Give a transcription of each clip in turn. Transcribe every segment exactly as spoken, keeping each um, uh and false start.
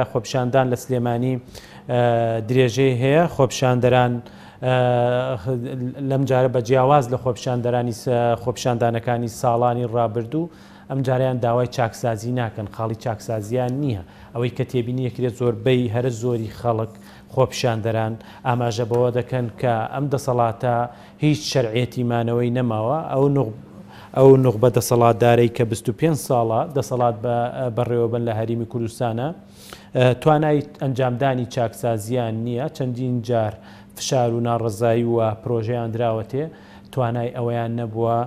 خۆپیشاندان لە سلێمانی درێژەی هەیە. خۆپیشاندەران لەم جارە بە جیاواز لە خۆپیشاندەرانی خۆپیشاندانەکانی ساڵانی ڕابردوو ئەم جاریان داوای چاکسازی ناکەن، خاڵی چاکسازیان نییە. ئەوەی کە تێبینی یەکرێت زۆربەی هەرە زۆری خەڵک خۆپیشاندەران ئاماژە بەوە دەکەن کە ئەم دەسەڵاتە هیچ شەرعیەتی مانەوەی نەماوە. ئەو ئەو نوخبە دەسەڵاتدارەی کە بیست و پێنج ساڵە دەسەڵات بەڕێوەبن لە هەرێمی کوردستانە توانای ئەنجامدانی چاکسازیان نییە. چەندین جار فشار و ناڕەزایی و پرۆژەیان دراوەتێ، توانای ئەوەیان نەبووە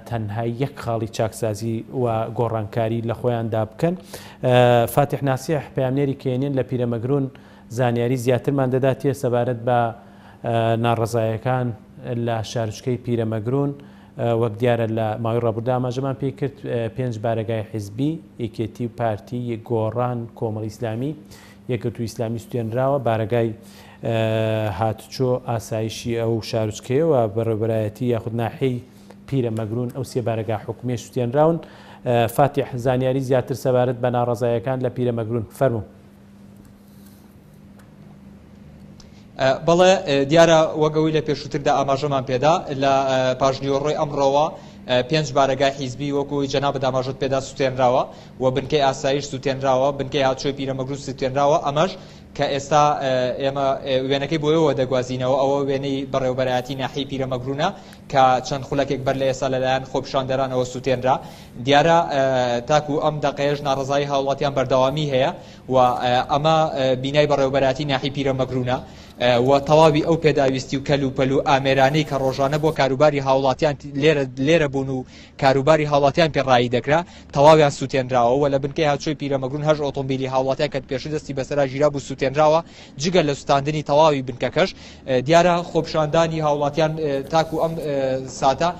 تەنها یەک خاڵی چاکسازی و گۆڕانکاری لە خۆیاندا بکەن. فاتیح ناسیح پەیامنێری کێنین لە پیرەمەگرون زانیاری زیاترمان دەداتێ سەبارەت بە ناڕەزایەکان لە شارۆچکەی پیرەمەگرون. وەک دیارە لە ماوەی ڕابردوو ئاماژەمان پێی کرد پێنج بارەگای حیزبی، یەکێتی و پارتی، گۆڕان، کۆمەڵی ئیسلامی، یەکگرتوو ئیسلامی سوتێنراوە. بارەگای هاتوچۆ ئاسایشی ئەو شارۆچکەیەوە بەڕێوەبەرایەتی یاخود ناحیەی پیرەمەگرون ئەو سێ بارەگا حکومیە سوتێنراون. فاتیح، زانیاری زیاتر سەبارەت بە ناڕەزایەکان لە پیرەمەگرون فەرموو. بەڵێ، دیارە وەک ئەوەی لە پێشووتردا ئاماژەمان پێدا لە پاژنیوەڕۆی ئەمڕۆوە پێنج بارەگای حیزبی وەکو جەنابت ئاماژەت پێدا سوتێنراوە و بنکەی ئاسایش سوتێنراوە، بنکەی هاتوچۆی پیرەمەگرون سوتێنراوە. ئەمەش کە ئێستا ئێمە وێنەکەی بۆ ئێوە دەگوازینەوە، ئەوە وێنەی بەڕێوەبەرایەتی ناحیەی پیرەمەگرونە کە چەند خولەکێک بەر لە ئێستا لەلایەن خۆپیشاندەرانەوە سوتێنرا. دیارە تاکو ئەم دقەیەش ناڕەزایی هاوڵاتیان بەردەوامی هەیە و ئەمە بینای بەڕێوەبەرایەتی ناحیەی پیرەمەگرونە و تەواوی ئەو پێداویستی و کەل و پەل و ئامێرانەی کە ڕۆژانە بۆ کاروباری هاوڵاتیان لێرە بوون و کاروباری هاوڵاتیان پێڕایی دەکرا تەواویان سوتێنراوە. و لە بنکەی هاتوچۆی پیرەمەگرون هەش ئۆتۆمبیلی هاوڵاتیان کە پێشتر دەستی بەسەرا گیرا بوو سوتێنراوە، جگە لە سوتاندنی تەواوی بنکەکەش. دیارە خۆپیشاندانی هاوڵاتیان تاکو ئەم ساتە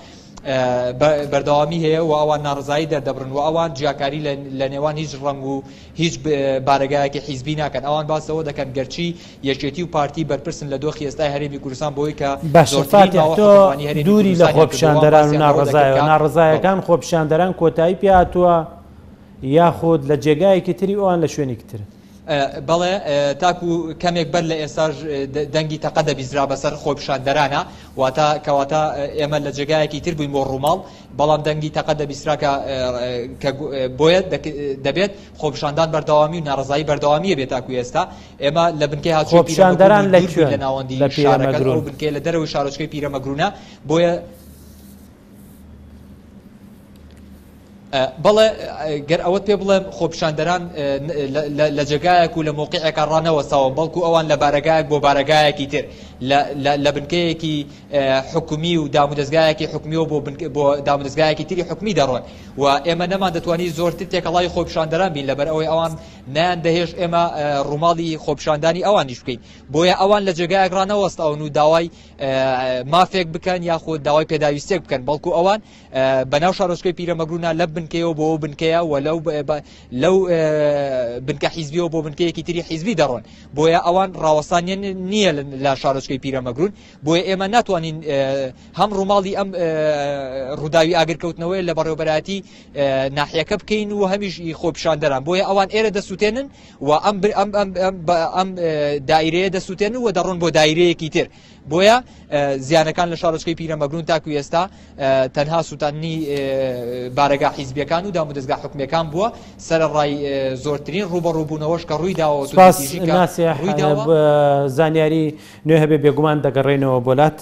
بەردەوامی هەیە و ئەوان ناڕزایی دەردەبڕن و ئەوان جیاکاری لە نێوان هیچ ڕەنگ و هیچ بارەگایەکی حیزبی ناکەن. ئەوان باسەوە دەکەن گەرچی یەکێتی و پارتی بەرپرسن لە دۆخی ئێستای هەرێمی کوردستان بۆی کە باشە فاتیح، تۆ دووری لە خۆپیشاندەران و ناڕەزایەوە، ناڕەزایەکان خۆپیشاندەران کۆتایی پێهاتووە یاخود لە جێگایەکی تری ئەوان لە شوێنێکی تر؟ بەڵێ، تاکو کەمێک بەر لە ئێستاش دەنگی تەقە دەبیزرا بەسەر خۆپیشاندەرانە، واتە کەواتە ئێمە لە جێگایەکی تر بووین بۆ ڕووماڵ، بەڵام دەنگی تەقە دەبیسترا کە بۆیە دەبێت خۆپیشاندان بەردەوامی و ناڕەزایی بەردەوامیە بێت. تاکو ئێستا ئێمە لە بنکەی هاتوچۆی خۆپیشاندەران لە کوێن؟ لە ناوەندی شارەکە، ئەو بنکەیە لە دەرەوەی شارۆچکەی پیرەمەگرونە. بۆیە بەڵێ، گەر ئەوەت پێ بڵێم خۆپیشاندەران لە جێگایەک و لە مۆقعێکا ڕانەوەستاون، بەڵکو ئەوان لە بارەگایەک بۆ بارەگایەکی تر، لە بنکەیەکی حکومی و دامودەزگایەکی حکومیەوە بۆ دامودەزگایەکی تری حکومی دەڕۆن و ئێمە نەمان دەتوانی زۆرتر تێکەڵای خۆپیشاندەران بین، لەبەر ئەوەی ئەوان نایان دەهێشت ئێمە ڕووماڵی خۆپیشاندانی ئەوانیش بکەین. بۆیە ئەوان لە جێگایەک ڕانەوەستاون و داوای مافێک بکەن یاخود داوای پێداویستێک بکەن، بەڵکو ئەوان بەناو شارۆچکەی پیرەمەگرونە لە بنکەیەوە بۆ ئەو بنکەیە و لەو بنکە حیزبیەوە بۆ بنکەیەکی تری حیزبی دەڕۆن. بۆیە ئەوان ڕاوەستان نییە لە شارۆچکەی پیرەمەگرون. بۆیە ئێمە ناتوانین هەم ڕووماڵی ئەم ڕووداوی ئاگرکەوتنەوەی لە بەڕێوەبەرایەتی ناحیەکە بکەین و هەمیش خۆپیشاندەران. بۆیە ئەوان ئێرە دەسووتێنن و ئەم ئەم دایرەیە دەسووتێنن و دەڕۆن بۆ دایرەیەکی تر. بۆیە زیانەکان لە شارۆچکەی پیرەمەگرون تاکو ئێستا تەنها سووتاندنی بارەگا حیزبیەکان و دامودەزگا حکومیەکان بووە، سەرەڕای زۆرترین ڕووبەڕووبوونەوەش کە ڕووی داوە. زانیاری نوێ هەبێ بێگومان دەگەڕێنەوە بۆ لات.